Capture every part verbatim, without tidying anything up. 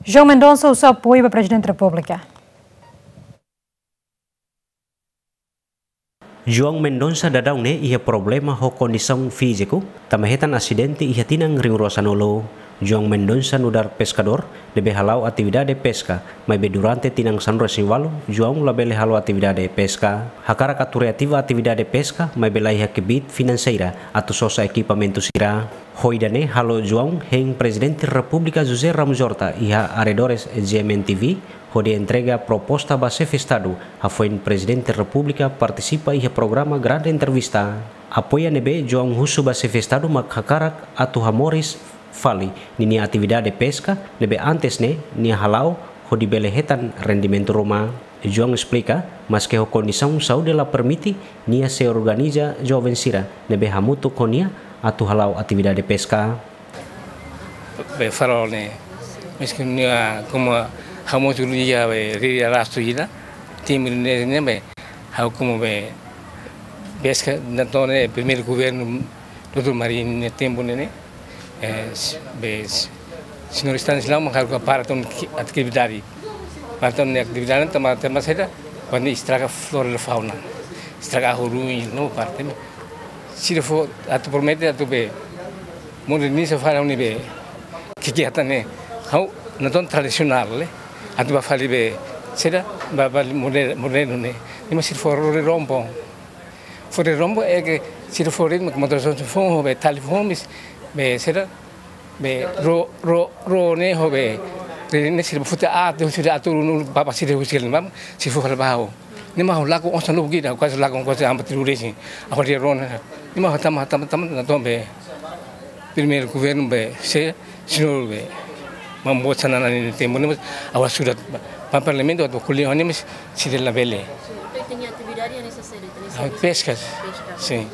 João Mendonça husu apoiu ba Prezidente Repúblika. João Mendonça daudaun ne'e iha problema ho kondisaun fíziku, tanba hetan asidente iha tinan rihun rua sanulu. João Mendonça nu'udar peskadór ne'ebé hala'o atividade peska, maibé durante tinan sanulu-resin-ualu, João labele halo atividade peska. Hakarak atu reativa atividade peska, maibé la iha kbiit finanseira atu sosa ekipamentu sira. Ho ida-ne'e halo João hein Prezidente Repúblika José Ramos Horta iha arredores G M N T V, hodi entrega proposta ba Xefe Estadu, hafoin Prezidente Repúblika partisipa iha programa Grande Entrevista. Apoiu ne'ebé João husu ba Xefe Estadu mak hakarak atu hamoris fali ninia atividade peska ne'ebé antes ne'e nia hala'o hodi bele hetan rendimentu ruma. João esplika, maske ho kondisaun saúde la permite, nia sei organiza joven sira ne'ebé hamutuk ho nia atu hala'o atividade peska. Be farol ne'e, maske nia komu ha'u mós uluk iha be riri arrastu ida, tempu ne'e, ne'e be, ha'u komu be peska, entaun ne'e primeiru governu doutór Marinho nia tempu ne'e, ne'e, eh, s-, be s-, señór Stanislau mak hakarak para tan ki-, atividade. Para tan atividade tanba, tanba saida, kuandu estraga flora e fauna. Estraga huru no parte. Se ele for atu promete atu be moderniza fali ne'ebé kegiatan ne'e, ha'u entaun tradisionál, eh. Atu ba fali be saida, ba, ba moder-, modernu ne'e. Ne'e mak se ele for rore rompo. Fore rombo é que se ele for ritmo como todos os fomos be telefone, be saida, be ro, ro, ro ne'e ho be, ne'e se ele for atu, se ele atu no papa se ele usil mam, se ele for ba ha'u. Ne'e mak ha'u lakon osan no gida, kuaze lakon kuaze amba tiru resi. Agora dia ro ne'e. Ne'e mak tama, tama, tama, entaun be primeiru governu be, se, señór be, mambo sana nani tempu ne'e, mas, awa surat, ba, ba parlamentu atu ko'alia ho nia, mas, se ele labele. Entaun, ita-nia atividade ne'e sá, ita-nia Ah, servisu? Peskas. Peskas. Sin.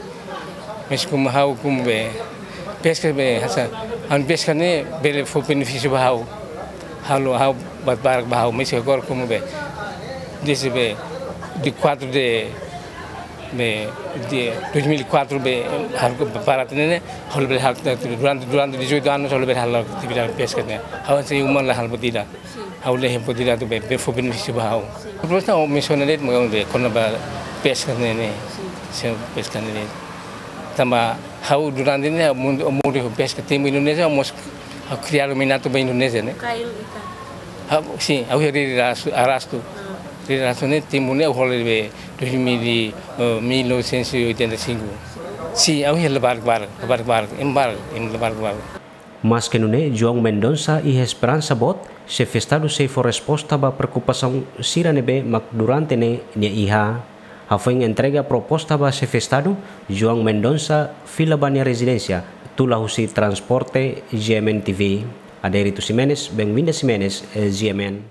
Mas komu ha'u komu be, peskas be, hanesan, ha'u-nia peska ne'e, bele fó benefísiu ba ha'u. Halo ha'u ba, ba, ba ha'u, mas agora komu be, desde be, dia quatro de be, de dois mil e quatro be, ha'u para ne'e, ha'u bele halo, durante, durante dezoito anos, ha'u bele halo atividade peska ne'e. Ha'u sei uma la halo buat ida. Sin. Ha'u la halo buat ida atu be, be fó benefísiu ba ha'u. Sin. Terus na, mensiona de'it, maun be, kona-ba peska ne'e, ne'e. Sin. Sin, peska ne'e, ne'e. Tanba ha'u durante ne'e, mundu, mundu peska tempu Indonézia, mós ha'u kria minatu ba Indonézia ne'e. Kail ikan. Ha'u, sin, ha'u riri arrastu, arrastu. Ah. Riri arrastu ne'e, tempu ne'e, ha'u hola be, dois mil e, eh, mil novecentos e oitenta e cinco. Sin, ha'u iha la barak-barak, la barak-barak, ema barak, ema la barak-barak. Maske nune'e, João Mendonça iha esperansa boot, Xefe Estadu sei fó resposta ba preokupasaun sira ne'ebé mak durante ne'e nia iha. Hafoin entrega proposta ba Xefe Estadu, João Mendonça fila ba nia rezidénsia, tula husi transporte G M N T V. Adérito Ximenes, Benvinda Ximenes, eh, G M N.